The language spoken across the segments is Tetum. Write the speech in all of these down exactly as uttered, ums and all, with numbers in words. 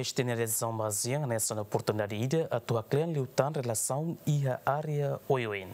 Timor-Leste nia adezaun ba ASEAN hanesan oportunidade ida atu haklean liután relasaun iha área oioin.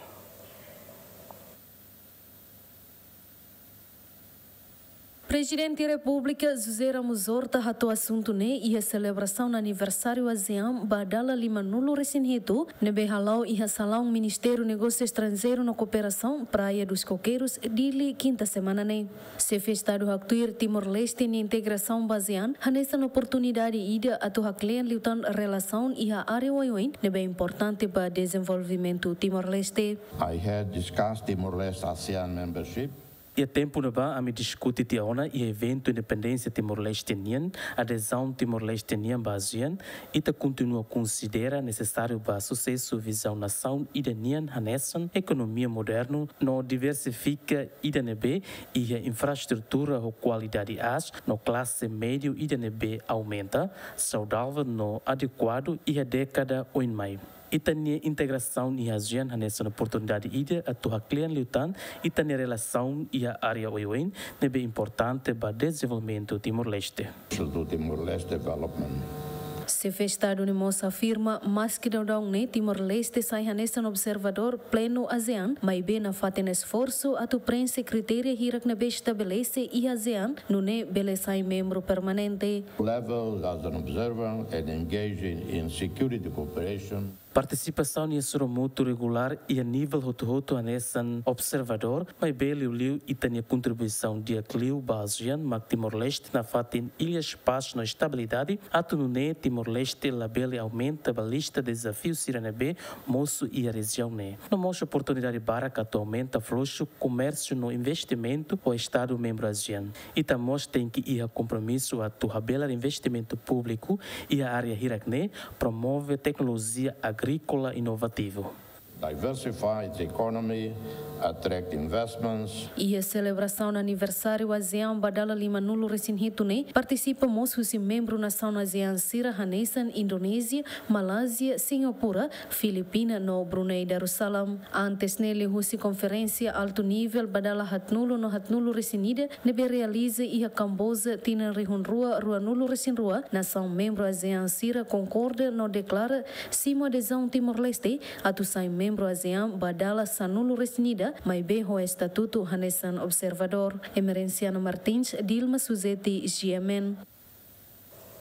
Prezidente Repúblika José Ramos Horta hato'o asuntu ne'e iha selebrasaun aniversáriu ASEAN ba dala limanulu-resin-hitu ne'ebé hala'o iha salaun Ministériu Negósiu Estranjeiru no Kooperasaun, Praia dos Coqueiros, Dili, kinta semana ne'e. Xefe Estadu haktuir Timor-Leste nia integrasaun ba ASEAN hanesan oportunidade ida atu haklean liután relasaun iha área oioin ne'ebé importante ba dezenvolvimentu Timor-Leste. I had discussed Timor-Leste ASEAN membership. Iha tempu ne'ebá ami diskute tiha ona iha eventu independénsia Timor-Leste nian, adezaun Timor-Leste nian ba ASEAN, ita kontinua konsidera nesesáriu ba susesu vizaun nasaun ida nian hanesan ekonomia modernu no diversifika ida ne'ebé iha infraestrutura ho kualidade aas no klase médiu ida ne'ebé aumenta, saudável no adekuadu iha dékada oin mai. Ita-nia integrasaun iha ASEAN hanesan oportunidade ida atu haklean liután ita-nia relasaun iha área oioin ne'ebé importante ba dezenvolvimentu Timor-Leste. To Timor-Leste development. Xefe Estadu ne'e mós afirma, maski daudaun ne'e Timor-Leste sai hanesan observadór plenu ASEAN, maibé nafatin esforsu atu preenxe kritéria hirak ne'ebé estabelese iha ASEAN, nune'e bele sai membru permanente. Level as an observer and engaging in security cooperation. Partisipasaun iha sorumutu regulár iha nivel hotu-hotu hanesan observadór, maibé liuliu ita-nia kontribuisaun di'ak liu ba ASEAN mak Timor-Leste nafatin ilhas pás no estabilidade, atu nune'e Timor-Leste labele aumenta ba lista dezafiu sira ne'ebé mosu iha rejiaun ne'e. No mós oportunidade barak atu aumenta fluxu komérsiu no investimentu ho Estadu membru ASEAN. Ita mós tenke iha kompromisu atu habelar investimentu públiku iha área hirak ne'e, promove teknolojia agríkola inovativu. Diversify the economy, attract investments. Iha selebrasaun aniversáriu ASEAN ba dala limanulu-resin-hitu ne'e, partisipa mós husi membru nasaun ASEAN sira hanesan Indonézia, Malázia, Singapura, Filipina no Brunei Darussalam. Antes ne'e liuhusi konferénsia altu nivel ba dala haatnulu no haatnulu-resin-ida ne'ebé realiza iha Kamboja tinan rihun rua ruanulu-resin-rua, nasaun membru ASEAN sira konkorda no deklara simu adezaun Timor-Leste atu sai membru ASEAN ba dala sanulu-resin-ida, maibé ho estatutu hanesan observadór. Emerenciana Martins, Dilma Suzeti, G M N.